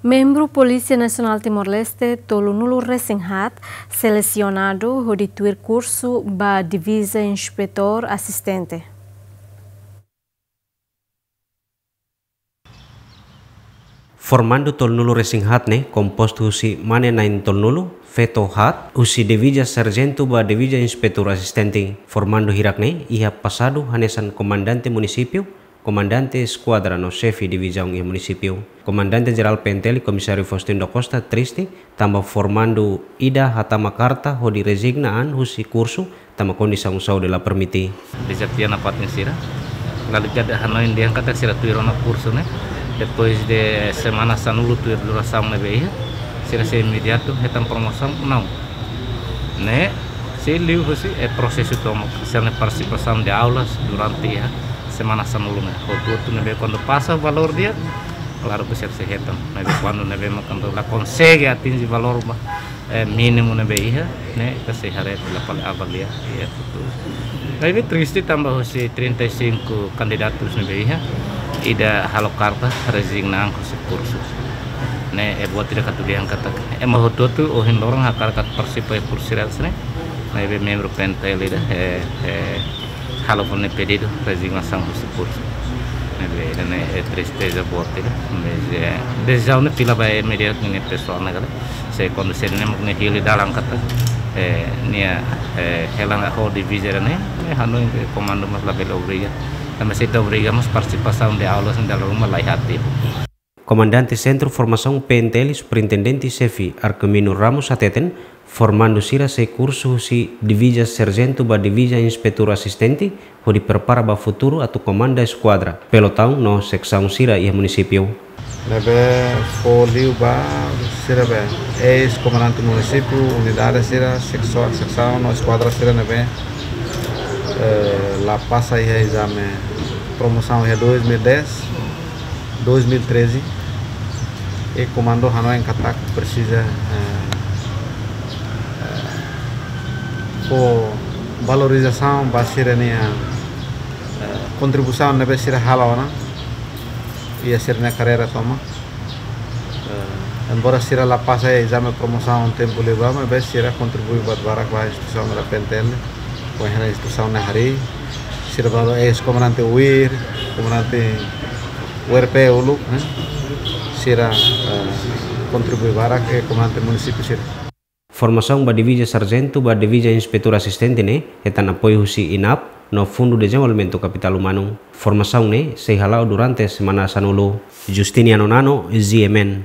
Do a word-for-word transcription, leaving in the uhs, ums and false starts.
Membru Polísia Nasionál Timor-Leste tolunulu resin haat selesionadu hodi tuir kursu ba Divizia Inspetór Asistente. Formandu tolunulu resin haat ne'e kompostu husi mane na'in tolunulu, feto haat, husi Divizia Sarjentu ba Divizia Inspetór Asistente. Formandu hirak ne'e iha pasadu hanesan komandante munisípiu, komandante eskuadra no xefe divizaun iha munisípiu. Komandante Jerál P N T L, Komisáriu Faustino da Costa, triste tanba formandu ida hatama karta hodi rezigna an husi kursu tanba kondisaun saúde la permite. Dezafio nafatin sira. Lalu jadi hanoin dehan katak sira tuir ona kursu ne'e. Depois de semana sanulu tuir durasaun ne'ebé iha, sira sei imediatu hetan promosaun? Não. Ne'e, sei liu husi, eh, prosesu tomak, sira-nia partisipasaun de aulas durante iha semana sanulu ne'e. Hotu-hotu ne'ebé kuandu pasa valór di'ak, klaru ke sira sei hetan. Maibé kuandu ne'ebé mak kuandu la konsege atinje valór ba, eh, mínimu ne'ebé iha, ne'e ita sei haree fila fali avalia iha futuru. Maibé triste tanba husi trinta e cinco candidatos ne'ebé iha, ida halo karta rezigna an husi kursu. Ne'e, eh, buat ida atu dehan katak ema hotu-hotu ohin loron hakarak atu partisipa iha kursu sira ne'e. Maibé membru P N T L ida, eh, eh, halo fali nia pedidu rezignasaun husi kursu. Ne'ebé, ne'e, eh, tristeza boot ida. Mas, eh, desizaun ne'e fila ba, eh, imediatu nia pesoál ne'e karik. Se kuandu sira-ne'e mak nia hili dalan katak, eh, nia, eh, hela ho divizia ne'e, ne'e hanoin ke komandu mós labele obriga. Tanba se ita obriga mós partisipasaun de aulas ne'e dala ruma la iha ativu. Komandante Sentru Formasaun P N T L, Superintendente Xefe Arquimino Ramos hateten, formandu sira sei kursu husi Divizia Sarjentu ba Divizia Inspetór Asistente, hodi prepara ba futuru atu komanda eskuadra, pelotaun no seksaun sira iha munisípiu. Ne'ebé fó liu ba sira be, eis-komandante munisípiu, unidade sira, seksaun, seksaun no eskuadra sira ne'ebé, eh, la pasa iha ezame promosaun iha dois mil e dez, dois mil e treze, i komandu hanoin katak presiza, eh, eh, fó valorizasaun ba sira-nia, eh, kontribuisaun ne'ebé sira halo ona iha sira-nia karreira tomak. Eh, embora sira la pasa iha ezame promosaun tempu liubá, maibé sira kontribui buat barak ba instituisaun da P N T L, ba instituisaun ne'e harii, sira balu eis-komandante UIR, komandante U R P uluk, eh, sira, eh, kontribui barak, eh, komandante munisípiu sira. Formasaun ba Divizia Sarjentu ba Divizia Inspetór Asistente ne'e hetan apoiu husi INAP no Fundu Dezenvolvimentu Kapitál Umanu. Formasaun ne'e sei hala'o durante semana sanulu. Justiniano Nano, G M N.